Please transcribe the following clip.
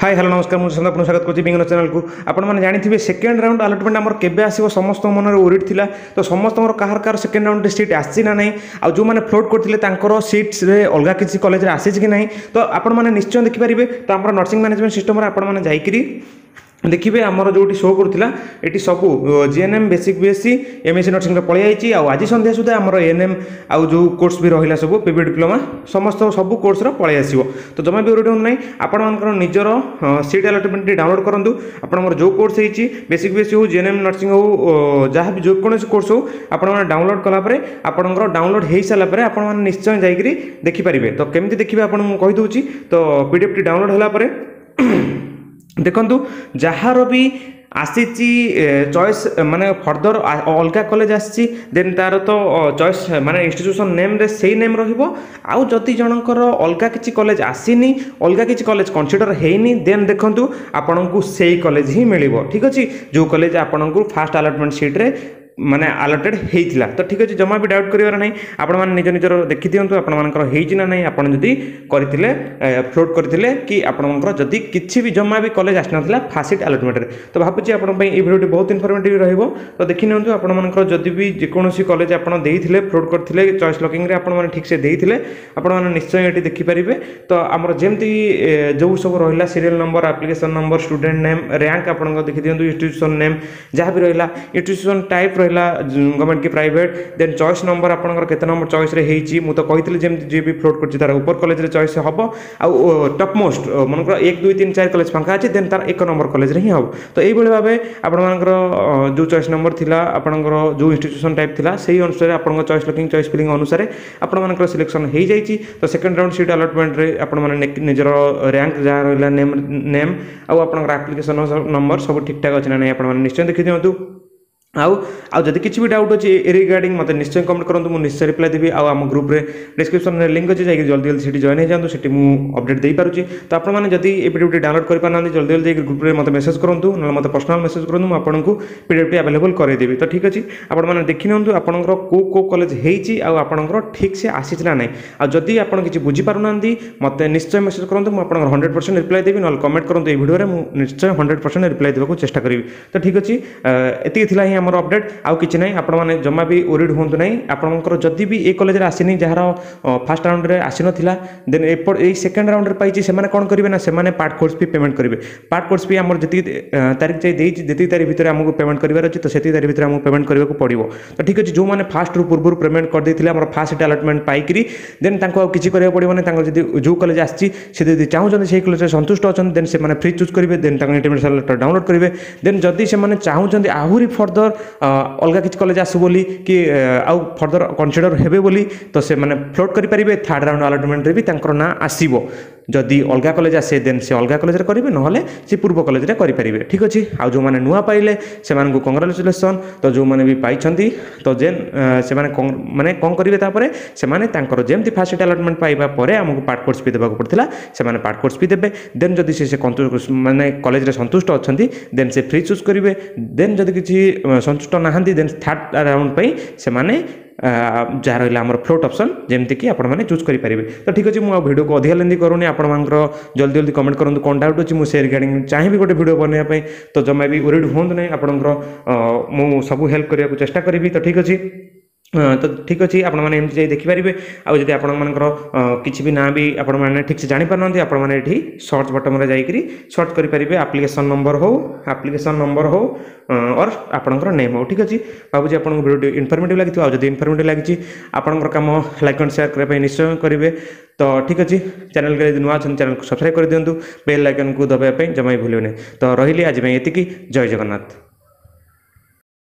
High, hello, ନମସ୍କାର। ମୁଁ ସୁଶାନ୍ତ, ଆପଣଙ୍କୁ ସ୍ୱାଗତ କରୁଛି ବିଙ୍ଗନ ଚ୍ୟାନେଲକୁ। ଆପଣମାନେ ଜାଣିଥିବେ, ସେକେଣ୍ଡ ରାଉଣ୍ଡ ଆଲଟମେଣ୍ଟ ଆମର କେବେ ଆସିବ, ସମସ୍ତଙ୍କ ମନରେ ୱରିଡ୍ ଥିଲା। ତ ସମସ୍ତଙ୍କର କାହାର କାହାର ସେକେଣ୍ଡ ରାଉଣ୍ଡରେ ସିଟ୍ ଆସିଛି ନା ନାହିଁ, ଆଉ ଯେଉଁମାନେ ଫ୍ଲୋଟ୍ କରିଥିଲେ ତାଙ୍କର ସିଟ୍ସରେ ଅଲଗା କିଛି କଲେଜରେ ଆସିଛି କି ନାହିଁ, ତ ଆପଣମାନେ ନିଶ୍ଚୟ ଦେଖିପାରିବେ। ତ ଆମର ନର୍ସିଂ ମ୍ୟାନେଜମେଣ୍ଟ ସିଷ୍ଟମରେ ଆପଣମାନେ ଯାଇକରି ଦେଖିବେ, ଆମର ଯେଉଁଠି ଶୋ କରୁଥିଲା, ଏଠି ସବୁ ଜିଏନ୍ଏମ୍, ବେସିକ୍ ବିଏସ୍ସି, ଏମ୍ଏସ୍ସି ନର୍ସିଂର ପଳେଇ ଯାଇଛି। ଆଉ ଆଜି ସନ୍ଧ୍ୟା ସୁଦ୍ଧା ଆମର ଏଏନ୍ଏମ୍ ଆଉ ଯେଉଁ କୋର୍ସ ବି ରହିଲା ସବୁ, ପିଭି ଡିପ୍ଲୋମା, ସମସ୍ତ ସବୁ କୋର୍ସର ପଳେଇ ଆସିବ। ତ ଜମା ବି ୱରିଡ୍ ହୁଅନ୍ତୁ ନାହିଁ। ଆପଣମାନଙ୍କର ନିଜର ସିଟ୍ ଆଲଟମେଣ୍ଟଟି ଡାଉନଲୋଡ଼ କରନ୍ତୁ। ଆପଣଙ୍କର ଯେଉଁ କୋର୍ସ ହେଇଛି, ବେସିକ୍ ବିଏସ୍ସି ହେଉ, ଜିଏନ୍ଏମ୍ ନର୍ସିଂ ହେଉ, ଯାହା ବି ଯେକୌଣସି କୋର୍ସ ହେଉ, ଆପଣମାନେ ଡାଉନଲୋଡ଼ କଲା ପରେ, ଆପଣଙ୍କର ଡାଉନଲୋଡ଼ ହେଇସାରିଲା ପରେ ଆପଣମାନେ ନିଶ୍ଚୟ ଯାଇକରି ଦେଖିପାରିବେ। ତ କେମିତି ଦେଖିବେ ଆପଣଙ୍କୁ ମୁଁ କହିଦେଉଛି। ତ ପିଡିଏଫ୍ଟି ଡାଉନଲୋଡ଼ ହେଲା ପରେ ଦେଖନ୍ତୁ, ଯାହାର ବି ଆସିଛି ଚଏସ୍, ମାନେ ଫର୍ଦର ଅଲଗା କଲେଜ ଆସିଛି, ଦେନ୍ ତାର ତ ଚଏସ୍ ମାନେ ଇନଷ୍ଟିଚ୍ୟୁସନ୍ ନେମ୍ରେ ସେଇ ନେମ୍ ରହିବ। ଆଉ ଯଦି ଜଣଙ୍କର ଅଲଗା କିଛି କଲେଜ ଆସିନି, ଅଲଗା କିଛି କଲେଜ କନସିଡର ହେଇନି, ଦେନ୍ ଦେଖନ୍ତୁ ଆପଣଙ୍କୁ ସେଇ କଲେଜ ହିଁ ମିଳିବ। ଠିକ୍ ଅଛି, ଯେଉଁ କଲେଜ ଆପଣଙ୍କୁ ଫାଷ୍ଟ ଆଲଟମେଣ୍ଟ ସିଟ୍ରେ ମାନେ ଆଲଟେଡ୍ ହେଇଥିଲା। ତ ଠିକ୍ ଅଛି, ଜମା ବି ଡାଉଟ୍ କରିବାର ନାହିଁ। ଆପଣମାନେ ନିଜ ନିଜର ଦେଖିଦିଅନ୍ତୁ ଆପଣମାନଙ୍କର ହେଇଛି ନା ନାହିଁ। ଆପଣ ଯଦି କରିଥିଲେ, ଫ୍ଲୋଟ୍ କରିଥିଲେ କି ଆପଣଙ୍କର ଯଦି କିଛି ବି ଜମା ବି କଲେଜ ଆସିନଥିଲା ଫାଷ୍ଟ ସିଟ୍ ଆଲଟମେଣ୍ଟରେ, ତ ଭାବୁଛି ଆପଣଙ୍କ ପାଇଁ ଏଇ ଭିଡ଼ିଓଟି ବହୁତ ଇନଫର୍ମେଟିଭ୍ ରହିବ। ତ ଦେଖିନିଅନ୍ତୁ, ଆପଣମାନଙ୍କର ଯଦି ବି ଯେକୌଣସି କଲେଜ ଆପଣ ଦେଇଥିଲେ, ଫ୍ଲୋଟ୍ କରିଥିଲେ, ଚଏସ୍ ଲକିଂରେ ଆପଣମାନେ ଠିକ୍ସେ ଦେଇଥିଲେ, ଆପଣମାନେ ନିଶ୍ଚୟ ଏଠି ଦେଖିପାରିବେ। ତ ଆମର ଯେମିତି ଯେଉଁ ସବୁ ରହିଲା, serial number, application number, student name, rank ଆପଣଙ୍କ ଦେଖିଦିଅନ୍ତୁ, ଇନଷ୍ଟିଟ୍ୟୁସନ୍ ନେମ୍ ଯାହା ବି ରହିଲା, ଇନଷ୍ଟିଟ୍ୟୁସନ୍ ଟାଇପ୍ ରହିଲା ଗଭର୍ଣ୍ଣମେଣ୍ଟ କି ପ୍ରାଇଭେଟ୍, ଦେନ୍ ଚଏସ୍ ନମ୍ବର ଆପଣଙ୍କର କେତେ ନମ୍ବର ଚଏସ୍ରେ ହେଇଛି। ମୁଁ ତ କହିଥିଲି ଯେମିତି ଯିଏ ବି ଫ୍ଲୋଟ୍ କରୁଛି ତାର ଉପର କଲେଜରେ ଚଏସ୍ ହେବ, ଆଉ ଟପ୍ ମୋଷ୍ଟ ମନେକର 1, 2, 3, 4 କଲେଜ ଫାଙ୍କା ଅଛି, ଦେନ୍ ତାର 1 ନମ୍ବର କଲେଜରେ ହିଁ ହେବ। ତ ଏଇଭଳି ଭାବେ ଆପଣମାନଙ୍କର ଯେଉଁ ଚଏସ୍ ନମ୍ବର ଥିଲା, ଆପଣଙ୍କର ଯେଉଁ ଇନଷ୍ଟିଟ୍ୟୁସନ୍ ଟାଇପ୍ ଥିଲା, ସେଇ ଅନୁସାରେ ଆପଣଙ୍କ ଚଏସ୍ ଲକିଂ, ଚଏସ୍ ଫିଲିଂ ଅନୁସାରେ ଆପଣମାନଙ୍କର ସିଲେକ୍ସନ୍ ହେଇଯାଇଛି। ତ ସେକେଣ୍ଡ ରାଉଣ୍ଡ ସିଟ୍ ଆଲଟମେଣ୍ଟରେ ଆପଣମାନେ ନିଜର ର୍ୟାଙ୍କ ଯାହା ରହିଲା, ନେମ୍ ଆଉ ଆପଣଙ୍କର ଆପ୍ଲିକେସନ୍ ନମ୍ବର ସବୁ ଠିକ୍ଠାକ୍ ଅଛି ନା ନାହିଁ, ଆପଣମାନେ ନିଶ୍ଚୟ ଦେଖିଦିଅନ୍ତୁ। ଆଉ ଯଦି କିଛି ବି ଡାଉଟ୍ ଅଛି ଏ ରିଗାର୍ଡ଼ିଂ, ମୋତେ ନିଶ୍ଚୟ କମେଣ୍ଟ କରନ୍ତୁ, ମୁଁ ନିଶ୍ଚୟ ରିପ୍ଲାଏ ଦେବି। ଆଉ ଆମ ଗ୍ରୁପ୍ରେ ଡିସ୍କ୍ରିପ୍ସନ୍ରେ ଲିଙ୍କ୍ ଅଛି, ଯାଇକି ଜଲ୍ଦି ଜଲ୍ଦି ସେଠି ଜଏନ୍ ହେଇଯାଆନ୍ତୁ। ସେଠି ମୁଁ ଅପଡ଼େଟ୍ ଦେଇପାରୁଛି। ତ ଆପଣମାନେ ଯଦି ଏ ପିଡିଏଫ୍ଟି ଡାଉନଲୋଡ଼ କରିପାରୁନାହାନ୍ତି, ଜଲ୍ଦି ଜଲ୍ଦି ଯାଇକି ଗ୍ରୁପ୍ରେ ମୋତେ ମେସେଜ୍ କରନ୍ତୁ, ନହେଲେ ମୋତେ ପର୍ସନାଲ୍ ମେସେଜ୍ କରନ୍ତୁ, ମୁଁ ଆପଣଙ୍କୁ ପିଡିଏଫ୍ଟି ଆଭେଲେବଲ୍ କରାଇଦେବି। ତ ଠିକ୍ ଅଛି, ଆପଣମାନେ ଦେଖିନିଅନ୍ତୁ ଆପଣଙ୍କର କେଉଁ କେଉଁ କଲେଜ ହେଇଛି ଆଉ ଆପଣଙ୍କର ଠିକ୍ ସେ ଆସିଛି ନା ନାହିଁ। ଆଉ ଯଦି ଆପଣ କିଛି ବୁଝିପାରୁନାହାନ୍ତି, ମୋତେ ନିଶ୍ଚୟ ମେସେଜ୍ କରନ୍ତୁ, ମୁଁ ଆପଣଙ୍କର 100% ରିପ୍ଲାଏ ଦେବି। ନହେଲେ କମେଣ୍ଟ କରନ୍ତୁ ଏଇ ଭିଡ଼ିଓରେ, ମୁଁ ନିଶ୍ଚୟ 100% ରିପ୍ଲାଏ ଦେବାକୁ ଚେଷ୍ଟା କରିବି। ତ ଠିକ୍ ଅଛି, ଏତିକି ଥିଲା ହିଁ ଆମର ଅପଡ଼େଟ୍, ଆଉ କିଛି ନାହିଁ। ଆପଣମାନେ ଜମା ବି ୱରିଡ୍ ହୁଅନ୍ତୁ ନାହିଁ। ଆପଣଙ୍କର ଯଦି ବି ଏ କଲେଜରେ ଆସିନି, ଯାହାର ଫାଷ୍ଟ ରାଉଣ୍ଡରେ ଆସିନଥିଲା, ଦେନ୍ ଏପଟ ଏଇ ସେକେଣ୍ଡ ରାଉଣ୍ଡରେ ପାଇଛି, ସେମାନେ କ'ଣ କରିବେ ନା ସେମାନେ ପାର୍ଟ କୋର୍ସ ଫି ପେମେଣ୍ଟ କରିବେ। ପାର୍ଟ କୋର୍ସ ଫି ଆମର ଯେତିକି ତାରିଖ ଯାଇ ଦେଇଛି, ଯେତିକି ତାରିଖ ଭିତରେ ଆମକୁ ପେମେଣ୍ଟ କରିବାର ଅଛି, ତ ସେତିକି ତାରିଖ ଭିତରେ ଆମକୁ ପେମେଣ୍ଟ କରିବାକୁ ପଡ଼ିବ। ତ ଠିକ୍ ଅଛି, ଯେଉଁମାନେ ଫାଷ୍ଟରୁ ପୂର୍ବରୁ ପେମେଣ୍ଟ କରିଦେଇଥିଲେ ଆମର ଫାଷ୍ଟ ସିଟ୍ ଆଲଟମେଣ୍ଟ ପାଇକରି, ଦେନ୍ ତାଙ୍କୁ ଆଉ କିଛି କରିବାକୁ ପଡ଼ିବନି। ତାଙ୍କର ଯଦି ଯେଉଁ କଲେଜ ଆସିଛି, ସେ ଯଦି ଚାହୁଁଛନ୍ତି, ସେଇ କଲେଜରେ ସନ୍ତୁଷ୍ଟ ଅଛନ୍ତି, ଦେନ୍ ସେମାନେ ଫ୍ରି ଚୁଜ୍ କରିବେ, ଦେନ୍ ତାଙ୍କ ଇଣ୍ଟିମେସନ୍ ଲେଟର୍ ଡାଉନଲୋଡ଼ କରିବେ। ଦେନ୍ ଯଦି ସେମାନେ ଚାହୁଁଛନ୍ତି ଆହୁରି ଫର୍ଦର ଅଲଗା କିଛି କଲେଜ ଆସୁ ବୋଲି କି ଆଉ ଫର୍ଦର କନସିଡର ହେବେ ବୋଲି, ତ ସେମାନେ ଫ୍ଲୋଟ୍ କରିପାରିବେ। ଥାର୍ଡ଼ ରାଉଣ୍ଡ ଆଲଟମେଣ୍ଟରେ ବି ତାଙ୍କର ନାଁ ଆସିବ। ଯଦି ଅଲଗା କଲେଜ ଆସେ, ଦେନ୍ ସେ ଅଲଗା କଲେଜରେ କରିବେ, ନହେଲେ ସେ ପୂର୍ବ କଲେଜରେ କରିପାରିବେ। ଠିକ୍ ଅଛି, ଆଉ ଯେଉଁମାନେ ନୂଆ ପାଇଲେ ସେମାନଙ୍କୁ କଂଗ୍ରାଚୁଲେସନ୍। ତ ଯେଉଁମାନେ ବି ପାଇଛନ୍ତି, ତ ଯେନ୍ ସେମାନେ ମାନେ କ'ଣ କରିବେ ତାପରେ? ସେମାନେ ତାଙ୍କର ଯେମିତି ଫାଷ୍ଟ ସିଟ୍ ଆଲଟମେଣ୍ଟ ପାଇବା ପରେ ଆମକୁ ପାର୍ଟ କୋର୍ସ ଫି ଦେବାକୁ ପଡ଼ିଥିଲା, ସେମାନେ ପାର୍ଟ କୋର୍ସ ଫି ଦେବେ। ଦେନ୍ ଯଦି ସେ ମାନେ କଲେଜରେ ସନ୍ତୁଷ୍ଟ ଅଛନ୍ତି, ଦେନ୍ ସେ ଫ୍ରି ଚୁଜ୍ କରିବେ। ଦେନ୍ ଯଦି କିଛି ସନ୍ତୁଷ୍ଟ ନାହାନ୍ତି, ଦେନ୍ ଥାର୍ଡ଼ ରାଉଣ୍ଡ ପାଇଁ ସେମାନେ ଯାହା ରହିଲା ଆମର ଫ୍ଲୋଟ୍ ଅପସନ୍, ଯେମିତିକି ଆପଣମାନେ ଚୁଜ୍ କରିପାରିବେ। ତ ଠିକ୍ ଅଛି, ମୁଁ ଆଉ ଭିଡ଼ିଓକୁ ଅଧିକା ଲେନ୍ଦି କରୁନି। ଆପଣମାନଙ୍କର ଜଲ୍ଦି ଜଲ୍ଦି କମେଣ୍ଟ କରନ୍ତୁ କ'ଣ ଡାଉଟ୍ ଅଛି, ମୁଁ ସେ ରିଗାର୍ଡ଼ିଂ ଚାହିଁବି ଗୋଟେ ଭିଡ଼ିଓ ବନେଇବା ପାଇଁ। ତ ଜମା ବି ୱରିଡ୍ ହୁଅନ୍ତୁ ନାହିଁ, ଆପଣଙ୍କର ମୁଁ ସବୁ ହେଲ୍ପ କରିବାକୁ ଚେଷ୍ଟା କରିବି। ତ ଠିକ୍ ଅଛି, ଆପଣମାନେ ଏମିତି ଯାଇ ଦେଖିପାରିବେ। ଆଉ ଯଦି ଆପଣମାନଙ୍କର କିଛି ବି ନାଁ ବି ଆପଣମାନେ ଠିକ୍ସେ ଜାଣିପାରୁନାହାନ୍ତି, ଆପଣମାନେ ଏଠି ସର୍ଚ୍ଚ ବଟନ୍ରେ ଯାଇକରି ସର୍ଚ୍ଚ କରିପାରିବେ, ଆପ୍ଲିକେସନ୍ ନମ୍ବର ହଉ ଅର୍ ଆପଣଙ୍କର ନେମ୍ ହଉ। ଠିକ୍ ଅଛି, ଭାବୁଛି ଆପଣଙ୍କୁ ଭିଡ଼ିଓଟି ଇନଫର୍ମେଟିଭ୍ ଲାଗିଥିବ। ଆଉ ଯଦି ଇନଫର୍ମେଟିଭ୍ ଲାଗିଛି, ଆପଣଙ୍କର କାମ ଲାଇକ୍ ଆଣ୍ଡ ସେୟାର କରିବା ପାଇଁ ନିଶ୍ଚୟ କରିବେ। ତ ଠିକ୍ ଅଛି, ଚ୍ୟାନେଲରେ ଯଦି ନୂଆ ଅଛନ୍ତି, ଚ୍ୟାନେଲକୁ ସବସ୍କ୍ରାଇବ୍ କରିଦିଅନ୍ତୁ, ବେଲ୍ ଆଇକନ୍କୁ ଦବାଇବା ପାଇଁ ଜମା ବି ଭୁଲିବେନି। ତ ରହିଲି, ଆଜି ପାଇଁ ଏତିକି। ଜୟ ଜଗନ୍ନାଥ।